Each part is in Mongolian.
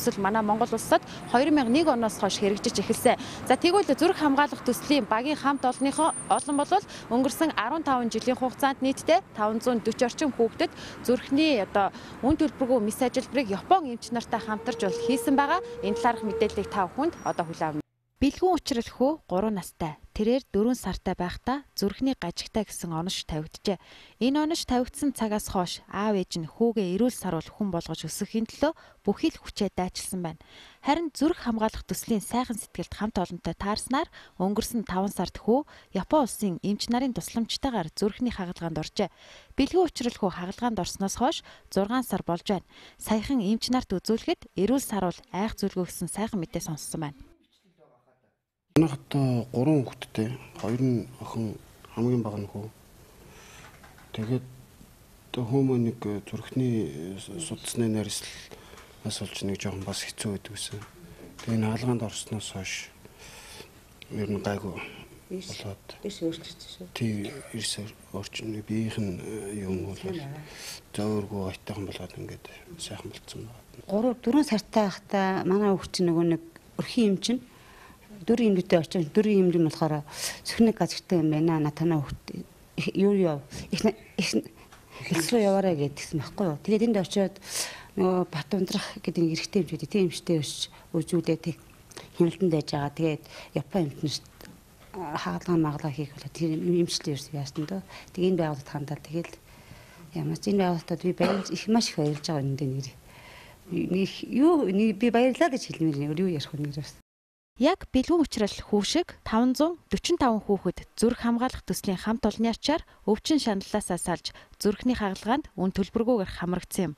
төсөл манай Монгол улсад 2001 оноос хойш хэрэгжиж эхэлсэн. За тэгвэл зүрх хамгаалах төслийн багийн хамт олонныхоо олон бол өнгөрсөн 15 жилийн хугацаанд нийтдээ 540 орчим хүүхдэд зүрхний үн төлбөргүй мис ажилбарыг Япон эмч нартай хамтарч хийсэн байгаа. Энэ талаарх мэдээллийг та бүхэнд одоо хүлээн авна. Бэлгүүн учрал хүү 3 настай. Тэрээр 4 сартай байхдаа зүрхний гажигтай гэсэн онош тавигджээ. Энэ онош тавигдсан цагаас хойш аав ээж нь хүүгээ эрүүл саруул хүн болгож өсгөхийн төлөө бүхий л хүчээ дайчилсан байна. Харин зүрх хамгаалах төслийн сайхан сэтгэлд хамт олонтой таарснаар өнгөрсөн 5 сард хүү Япон улсын эмч нарын тусламжтайгаар зүрхний хагалгаанд оржээ. Бэлгүүн учрал хүү хагалгаанд орсноос хойш 6 сар болж байна. Саяхан эмч нарт үзүүлэхэд эрүүл саруул айх зүлгөө гэсэн сайхан мэдээ сонссон байна. Манайхад 3 хүүхэдтэй, 2 нь охин хамгийн бага нь хүү. Тэгээд хүмүүс нэг зүрхний судасны нарийнаас болж нэг жоохон бас хэцүү байдаг гэсэн. Тэгээд энэ хаалгаанд орсноос хойш ер нь гайгүй болоод эрс өөрчлөгдсөн шүү. Тий, эрс орчин биеийнх нь юм бол зөөргөө айтайхан болоод ингээд сайхан болцсон байна. 4 сартай байхдаа манай хүүхд чинь нөгөө нэг өрхийн эмч нь 4 эмэгтэй очиж 4 эмэг нь болохоор сөхний газартай юм байна. Натана хүүхд юу хэлсрүү яваарай гэдгийгсэн байхгүй юу. Тэгээд энд очиод нөгөө бат ундрах гэдэг эрэгтэй эмчүүд тийм эмчтэй үзүүлээд хяналтанд байж байгаа. Тэгээд Япон эмчнэрт хаалгаа хийх болоо тэр эмчилээ яасан дөө. Тэгээд энэ байгууллагад хандаад тэгээд ямар ч энэ байгууллагад би их маш их баярлж байгаа энэ нэр. Би баярлаа гэж хэлмээр юу ярих вэ нэрээс. Яг бэлгүүн учрал хүү шиг 545 хүүхэд зүрх хамгаалах төслийн хамт олонны ачаар өвчин шаналлаасаа салж зүрхний хагалгаанд үн төлбөргүйгээр хамрагдсан юм.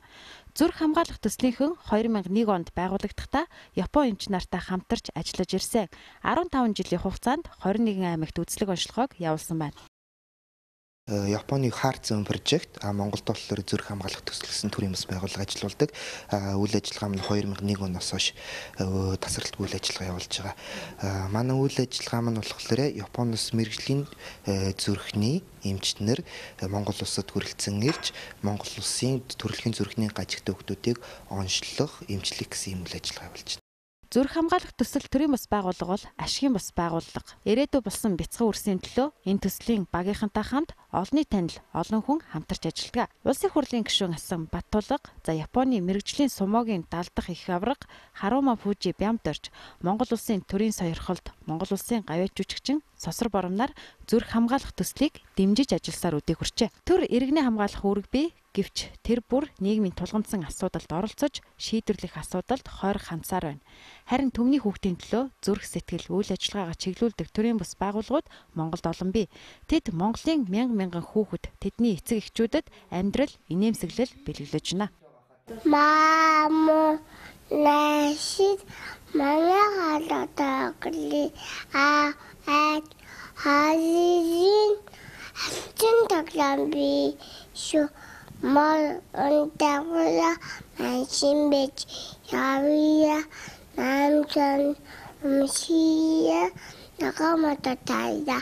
Зүрх хамгаалах төслийнхэн 2001 онд байгуулагдахдаа Япон эмч нартай хамтарч ажиллаж ирсэн. 15 жилийн хугацаанд 21 аймагт үзлэг онцлогоог явуулсан байна. Японы Heart Zone Project Монголд болохоор зүрх хамгаалах төсөл гэсэн төрлийн бас байгууллага ажиллаулдаг. Үйл ажиллагаа нь 2001 оноос хойш тасралтгүй үйл ажиллагаа явуулж байгаа. Манай үйл ажиллагаа маань болохоор Японоос мэрэгжлийн зүрхний эмчнэр Монгол улсад хүрэлцэн ирж Монгол улсын төрөлхийн зүрхний гажигтай хүүхдүүдийг онцлох, эмчлэх гэсэн үйл ажиллагаа явуулж байна. Зүрх хамгаалах төсөл төрийн бас байгууллага бол ашигын бас байгууллага. Ирээдүй болсон бяцхан үрсийн төлөө энэ төслийн багийнхантай хамт олонний танил олон хүн хамтарч ажилладаг. Улсын хурлын гишүүн асан Баттулга, за Японы мэрэгжлийн сумогийн далдах их авраг Харума Фужи Бямдорж, Монгол улсын төрийн сойрхолд Монгол улсын гавьяа жүжигчин Сосор Боромнаар зүрх хамгаалах төслийг дэмжиж ажилласаар үдээ хүрчээ. Төр иргэний хамгаалах үүрэг бий. Гэвч тэр бүр нийгмийн тулгамдсан асуудалд оролцож шийдвэрлэх асуудалд хойрох хандсаар байна. Харин түмний хүүхдийн төлөө зүрх сэтгэл үйл ажиллагаагаа чиглүүлдэг төрийн бус байгууллагууд Монголд олон бий. Тэд Монголын мянган хүүхэд тэдний эцэг эхчүүдэд амьдрал инээмсэглэл бэлгэлж байна. Мамо нэшид манай халатаа гли халин чин таглам би Мал онтавла маншимбеч явия намчан мшия накамата тайда